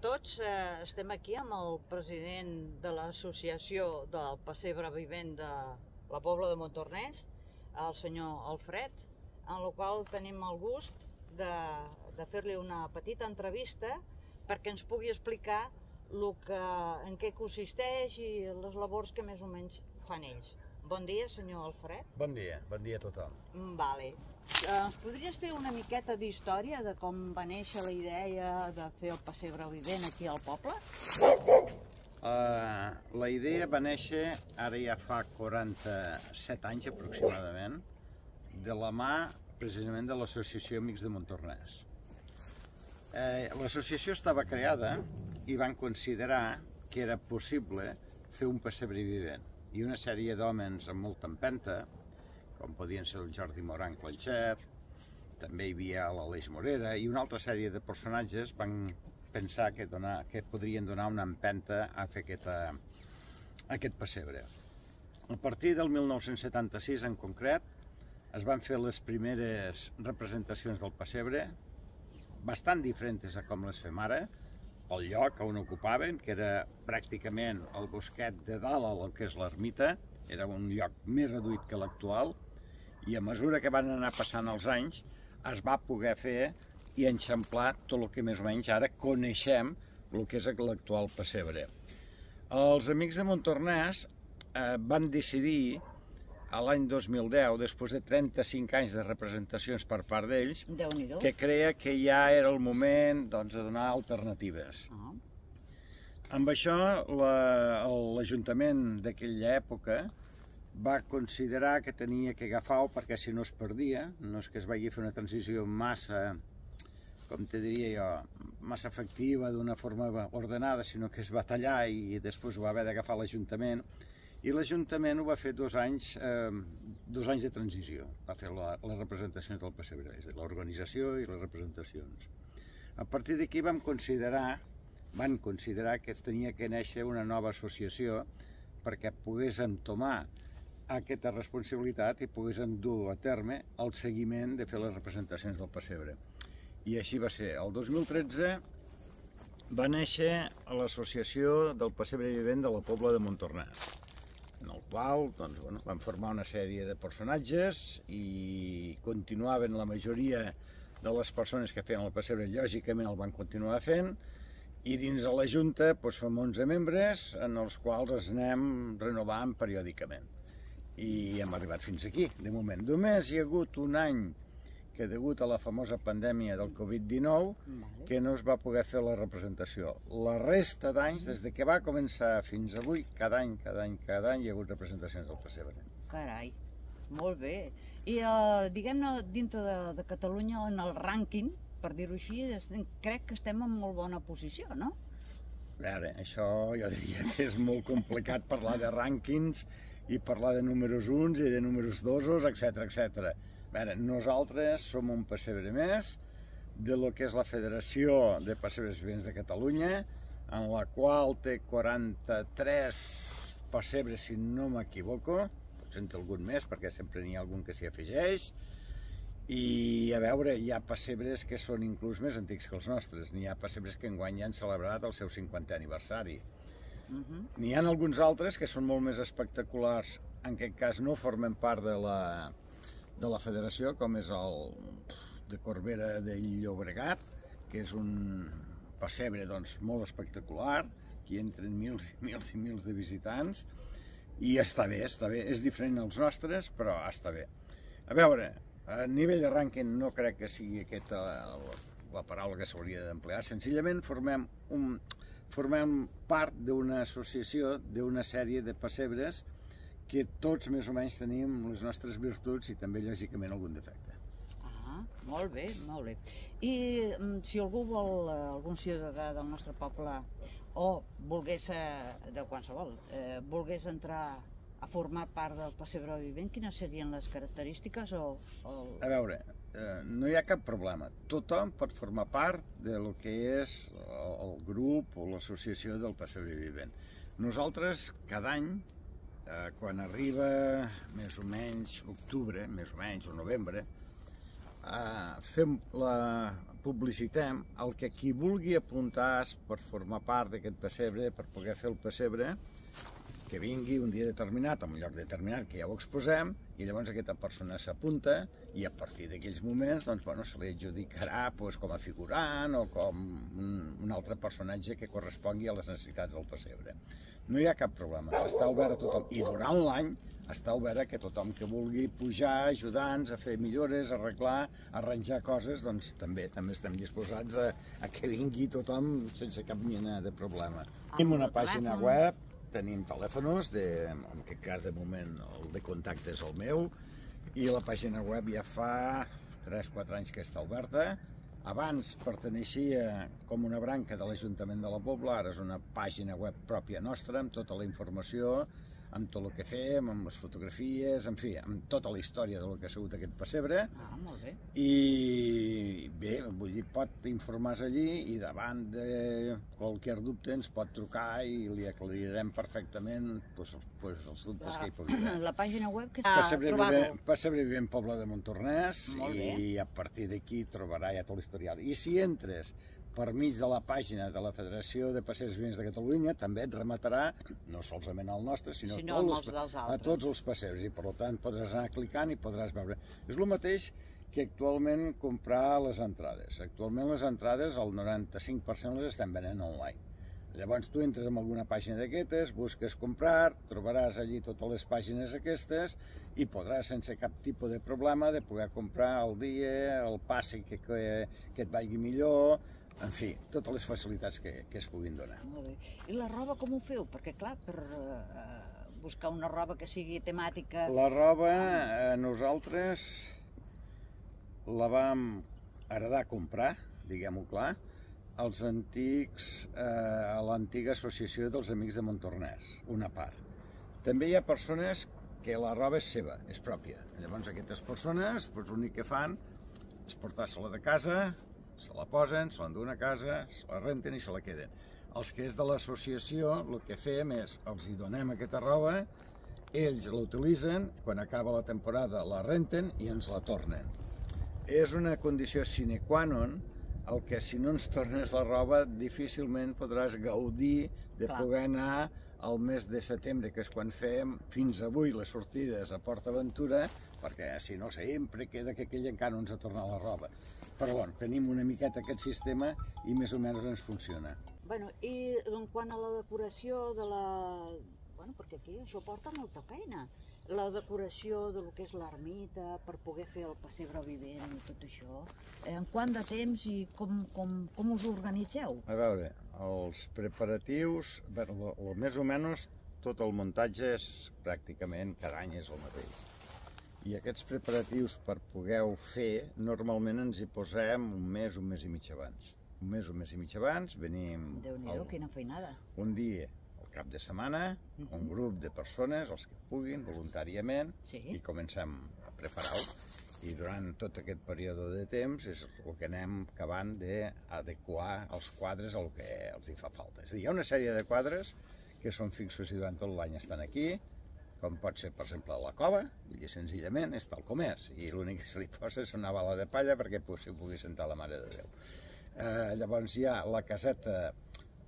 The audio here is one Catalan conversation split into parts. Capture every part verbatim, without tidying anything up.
tots, eh, estem aquí amb el president de l'associació del pessebre vivent de la Pobla de Montornès, el senyor Alfred, en el qual tenim el gust de, de fer-li una petita entrevista perquè ens pugui explicar lo que, en què consisteix i les labors que més o menys fan ells. Bon dia, senyor Alfred. Bon dia, bon dia a tothom. Vale. Ens podries fer una miqueta d'història de com va néixer la idea de fer el pessebre vivent aquí al poble? Uh, la idea va néixer ara ja fa quaranta-set anys aproximadament, de la mà precisament de l'Associació Amics de Montornès. Eh, L'associació estava creada i van considerar que era possible fer un pessebre vivent. I una sèrie d'hòmens amb molta empenta, com podien ser el Jordi Moran Clanxer, també hi havia l'Aleix Morera, i una altra sèrie de personatges van pensar que, donar, que podrien donar una empenta a fer aquesta, aquest pessebre. A partir del mil nou-cents setanta-sis, en concret, es van fer les primeres representacions del pessebre, bastant diferents a com les fem ara, el lloc on ocupaven, que era pràcticament el bosquet de dalt al que és l'ermita, era un lloc més reduït que l'actual, i a mesura que van anar passant els anys es va poder fer i enxamplar tot el que més o menys ara coneixem el que és l'actual pessebre. Els Amics de Montornès eh, van decidir a l'any dos mil deu, després de trenta-cinc anys de representacions per part d'ells, que creia que ja era el moment doncs, de donar alternatives. Uh -huh. Amb això, l'Ajuntament d'aquella època va considerar que tenia que agafar-ho perquè si no es perdia, no és que es vagi a fer una transició massa, com te diria jo, massa efectiva d'una forma ordenada, sinó que es va tallar i després ho va haver d'agafar l'Ajuntament. I l'Ajuntament ho va fer dos anys, eh, dos anys de transició, va fer la, les representacions del pessebre, és a dir, l'organització i les representacions. A partir d'aquí vam considerar, van considerar que tenia que néixer una nova associació perquè pogués entomar aquesta responsabilitat i poguéssim dur a terme el seguiment de fer les representacions del pessebre. I així va ser. El dos mil tretze va néixer l'Associació del Pessebre Vivent de la Pobla de Montornès, en el qual doncs, bueno, van formar una sèrie de personatges i continuaven la majoria de les persones que feien el pessebre, lògicament el van continuar fent, i dins de la Junta doncs, som onze membres en els quals ens anem renovant periòdicament. I hem arribat fins aquí, de moment. Només hi ha hagut un any que degut a la famosa pandèmia del Covid dinou, que no es va poder fer la representació. La resta d'anys, des que va començar fins avui, cada any, cada any, cada any hi ha hagut representacions del pessebre. Carai, molt bé. I uh, diguem-ne, dintre de, de Catalunya, en el rànquing, per dir-ho així, crec que estem en molt bona posició, no? A veure, això jo diria que és molt complicat parlar de rànquings i parlar de números uns i de números dosos, etcètera, etcètera. A veure, nosaltres som un pessebre més de lo que és la Federació de Pessebres Vivents de Catalunya, en la qual té quaranta-tres pessebres, si no m'equivoco, potser en té algun més, perquè sempre n'hi ha algun que s'hi afegeix, i a veure, hi ha pessebres que són inclús més antics que els nostres, n'hi ha pessebres que enguany ja han celebrat el seu cinquantè aniversari. N'hi ha alguns altres que són molt més espectaculars, en aquest cas no formen part de la de la federació, com és el de Corbera de Llobregat, que és un pessebre doncs, molt espectacular, que hi entren mils i mils i mils de visitants, i està bé, està bé, és diferent als nostres, però està bé. A veure, a nivell de rànquing no crec que sigui aquesta la, la paraula que s'hauria d'emplear, senzillament formem, un, formem part d'una associació, d'una sèrie de pessebres que tots més o menys tenim les nostres virtuts i també, lògicament, algun defecte. Ah, molt bé, molt bé. I si algú vol, algun ciutadà del nostre poble, o volgués, de qualsevol, eh, volgués entrar a formar part del pessebre vivent, quines serien les característiques? O, o... A veure, eh, no hi ha cap problema. Tothom pot formar part de lo que és el grup o l'associació del pessebre vivent. Nosaltres, cada any, Eh, quan arriba més o menys octubre, més o menys, o novembre, eh, fem la, publicitem el que qui vulgui apuntar per formar part d'aquest pessebre, per poder fer el pessebre, que vingui un dia determinat, en un lloc determinat, que ja ho exposem, i llavors aquesta persona s'apunta i a partir d'aquells moments doncs, bueno, se li adjudicarà doncs, com a figurant o com un, un altre personatge que correspongui a les necessitats del pessebre. No hi ha cap problema, està obert a tothom. I durant l'any està obert a que tothom que vulgui pujar, ajudar-nos a fer millores, arreglar, arranjar coses, doncs també també estem disposats a, a que vingui tothom sense cap mena de problema. Tenim una pàgina web, tenim telèfons, de, en aquest cas de moment el de contacte és el meu, i la pàgina web ja fa tres o quatre anys que està oberta. Abans perteneixia com una branca de l'Ajuntament de la Pobla, ara és una pàgina web pròpia nostra, amb tota la informació, amb tot el que fem, amb les fotografies, en fi, amb tota la història del que ha sigut aquest pessebre. Ah, molt bé. I bé, vull dir, pot informar-se allí i davant de qualsevol dubte ens pot trucar i li aclarirem perfectament pues, pues, els dubtes la, que hi pugui haver. La pàgina web que està trobat-ho. Pessebre Vivent Pobla de Montornès, i a partir d'aquí trobarà ja tot l'historial. I si entres per mig de la pàgina de la Federació de Pessebres Vivents de Catalunya, també et rematarà, no solament al nostre, sinó, sinó tots els, a tots els pessebres, i per tant podràs anar clicant i podràs veure. És el mateix que actualment comprar les entrades. Actualment les entrades, el noranta-cinc per cent les estem venent online. Llavors tu entres en alguna pàgina d'aquestes, busques comprar, trobaràs allí totes les pàgines aquestes i podràs sense cap tipus de problema de poder comprar el dia, el passe que, que, que et vagi millor, en fi, totes les facilitats que, que es puguin donar. Molt bé. I la roba com ho feu? Perquè clar, per uh, buscar una roba que sigui temàtica... La roba, eh, nosaltres la vam heredar a comprar, diguem-ho clar, als antics, eh, a l'antiga associació dels Amics de Montornès, una part. També hi ha persones que la roba és seva, és pròpia. Llavors aquestes persones, doncs, l'únic que fan és portar-se-la de casa, se la posen, se l'enduen a casa, se la renten i se la queden. Els que és de l'associació, el que fem és, els hi donem aquesta roba, ells la utilitzen, quan acaba la temporada la renten i ens la tornen. És una condició sine qua non el que si no ens tornes la roba difícilment podràs gaudir de Clar. poder anar al mes de setembre, que és quan fem fins avui les sortides a Port Aventura, perquè si no sempre queda que aquell encara no ens ha tornat la roba. Però bueno, tenim una miqueta aquest sistema i més o menys ens funciona. Bueno, i en quant a la decoració de la... Bueno, perquè aquí això porta molta feina. La decoració de lo que és l'ermita, per poder fer el pessebre vivent i tot això. En quant de temps i com, com, com us organitzeu? A veure, els preparatius, bueno, o més o menys tot el muntatge és pràcticament cada any és el mateix. I aquests preparatius per poder-ho fer, normalment ens hi posem un mes, un mes i mig abans. Un mes, un mes i mig abans, venim... Déu-n'hi-do, quina feinada. Un dia, al cap de setmana, uh-huh. un grup de persones, els que puguin, voluntàriament, sí. i comencem a preparar-ho. I durant tot aquest període de temps és el que anem acabant d'adequar els quadres al que els hi fa falta. És a dir, hi ha una sèrie de quadres que són fixos i durant tot l'any estan aquí, com pot ser, per exemple, la cova, i senzillament és tal com és, i l'únic que se li posa és una bala de palla perquè s'hi pugui sentar la Mare de Déu. Eh, llavors hi ha la caseta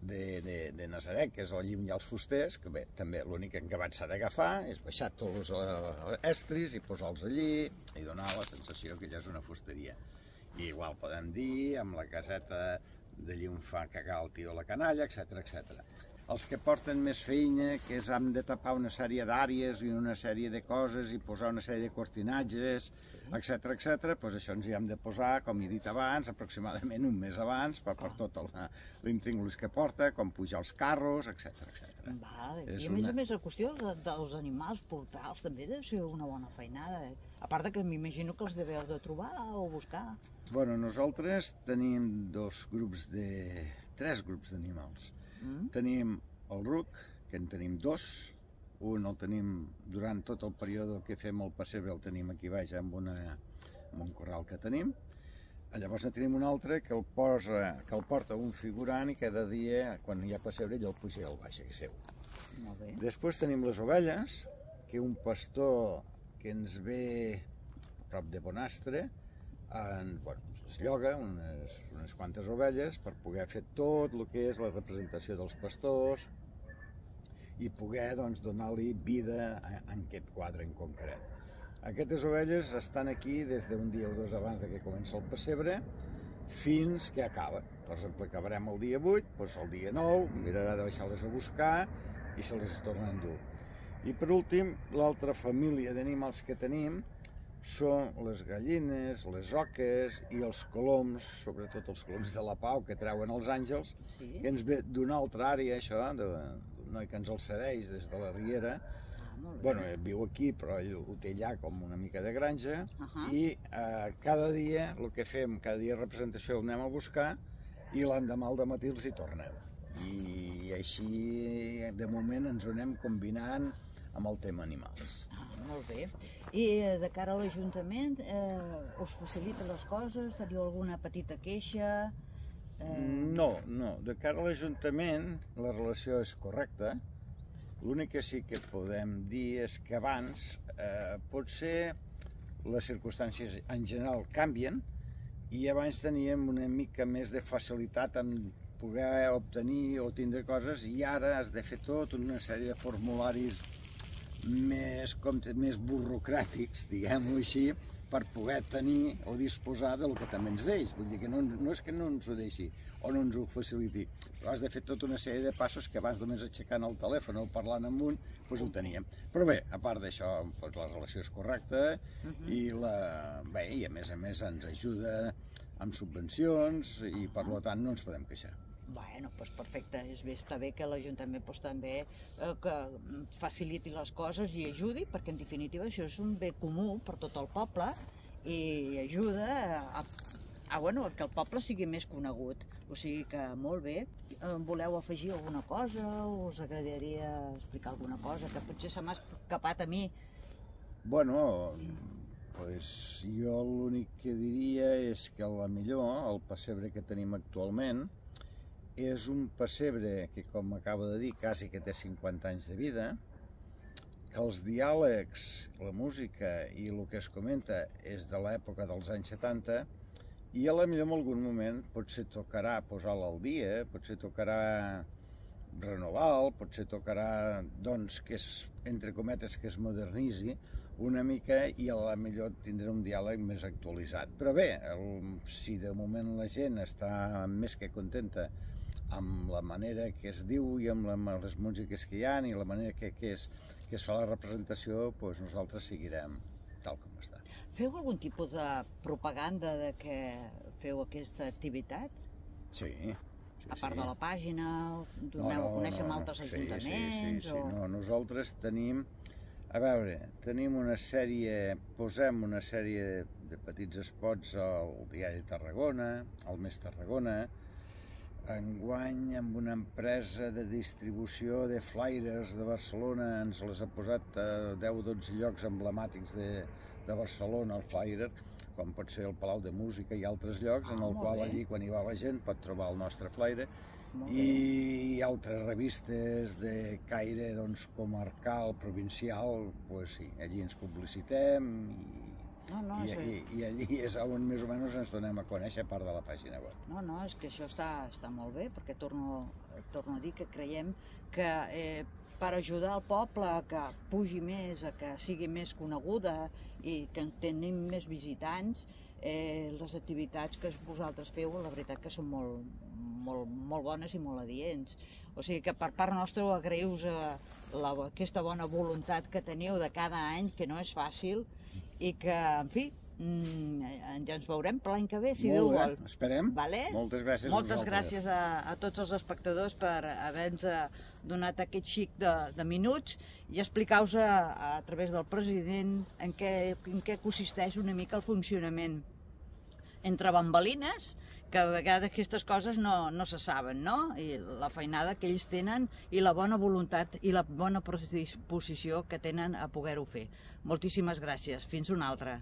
de, de, de Nazaret, que és allí on hi ha els fusters, que bé, també l'únic que s'ha d'agafar és baixar tots els estris i posar-los allí i donar la sensació que allà és una fusteria. I igual podem dir amb la caseta d'allí on fa cagar el tio la canalla, etcètera, etcètera. Els que porten més feina, que és hem de tapar una sèrie d'àrees i una sèrie de coses i posar una sèrie de cortinatges, etcètera, etcètera, doncs això ens hi hem de posar, com he dit abans, aproximadament un mes abans, per, per tot l'intríngulis que porta, com pujar els carros, etcètera, etcètera. Vale. I a més a més la qüestió de, dels animals, portals, també deu ser una bona feinada. Eh? A part de que m'imagino que els deveu de trobar o buscar. Bueno, nosaltres tenim dos grups de... tres grups d'animals. Mm. Tenim el ruc, que en tenim dos. Un el tenim durant tot el període que fem el pessebre, el tenim aquí baix amb, una, amb un corral que tenim. Llavors en tenim un altre que el, posa, que el porta un figurant i cada dia, quan hi ha pessebre, ell el puja al baix, que és seu. Molt bé. Després tenim les ovelles, que un pastor que ens ve a prop de Bonastre en, bueno, es lloga unes, unes quantes ovelles per poder fer tot el que és la representació dels pastors i poder doncs, donar-li vida a, a aquest quadre en concret. Aquestes ovelles estan aquí des d'un dia o dos abans de que comença el pessebre fins que acaba. Per exemple, acabarem el dia vuit, doncs el dia nou mirarà de baixar-les a buscar i se les torna a endur. I per últim, l'altra família d'animals que tenim són les gallines, les oques i els coloms, sobretot els coloms de la Pau que treuen els àngels, sí. Que ens ve d'una altra àrea, això, d'un noi que ens el cedeix des de la Riera. Ah, bueno, viu aquí, però ell ho té allà com una mica de granja, uh -huh. i eh, cada dia, el que fem, cada dia representació el anem a buscar i l'endemà al dematí els hi tornem. I així, de moment, ens ho anem combinant amb el tema animals. Ah, molt bé. I de cara a l'Ajuntament, eh, us facilita les coses? Teniu alguna petita queixa? Eh... No, no. De cara a l'Ajuntament, la relació és correcta. L'únic que sí que podem dir és que abans eh, potser les circumstàncies en general canvien i abans teníem una mica més de facilitat en poder obtenir o tindre coses i ara has de fer tot una sèrie de formularis més, com, més burocràtics, diguem-ho així, per poder tenir o disposar del que també ens deix. Vull dir que no, no és que no ens ho deixi o no ens ho faciliti, però has de fer tota una sèrie de passos que abans només aixecant el telèfon o parlant amb un, doncs ho teníem. Però bé, a part d'això, doncs la relació és correcta uh-huh. i, la, bé, i a més a més ens ajuda amb subvencions i per tant no ens podem queixar. Bueno, doncs perfecte, és bé, està bé que l'Ajuntament doncs, també eh, que faciliti les coses i ajudi, perquè en definitiva això és un bé comú per tot el poble i ajuda a, a, bueno, a que el poble sigui més conegut. O sigui que molt bé. Voleu afegir alguna cosa? Us agradaria explicar alguna cosa que potser se m'ha escapat a mi? Bueno, pues jo l'únic que diria és que a la millor el pessebre que tenim actualment és un pessebre que, com acabo de dir, quasi que té cinquanta anys de vida, que els diàlegs, la música i el que es comenta és de l'època dels anys setanta i a la millor en algun moment potser tocarà posar-la al dia, potser tocarà renovar-lo, potser tocarà, doncs, que és, entre cometes, que es modernitzi una mica i a la millor tindrà un diàleg més actualitzat. Però bé, el, si de moment la gent està més que contenta amb la manera que es diu i amb, la, amb les músiques que hi ha i la manera que, que, es, que es fa la representació, doncs nosaltres seguirem tal com està. Feu algun tipus de propaganda de que feu aquesta activitat? Sí. sí a part sí. de la pàgina, doneu no, no, a conèixer no, no. altres sí, ajuntaments? Sí, sí, sí. O... No, nosaltres tenim, a veure, tenim una sèrie, posem una sèrie de petits spots al diari Tarragona, al Més Tarragona, enguany amb una empresa de distribució de flyers de Barcelona, ens les ha posat a deu o dotze llocs emblemàtics de, de Barcelona, el flyer, com pot ser el Palau de Música i altres llocs, ah, en el qual bé. Allí, quan hi va la gent, pot trobar el nostre flyer, i, i altres revistes de caire doncs, comarcal, provincial, pues, sí, allí ens publicitem, i, No, no, I, i, i allí és on més o menys ens donem a conèixer a part de la pàgina web. No, no, és que això està, està molt bé, perquè torno, torno a dir que creiem que eh, per ajudar el poble a que pugi més, a que sigui més coneguda i que tenim més visitants, eh, les activitats que vosaltres feu, la veritat que són molt, molt, molt bones i molt adients. O sigui que per part nostra agraïu-vos aquesta bona voluntat que teniu de cada any, que no és fàcil, i que, en fi, ja ens veurem per l'any que ve, si Déu vol. Esperem. Vale? Moltes gràcies a Moltes gràcies a, a tots els espectadors per haver-nos donat aquest xic de, de minuts i explicar-vos a, a través del president en què, en què consisteix una mica el funcionament entre bambalines, que a vegades aquestes coses no, no se saben, no? I la feinada que ells tenen i la bona voluntat i la bona predisposició que tenen a poder-ho fer. Moltíssimes gràcies. Fins una altra.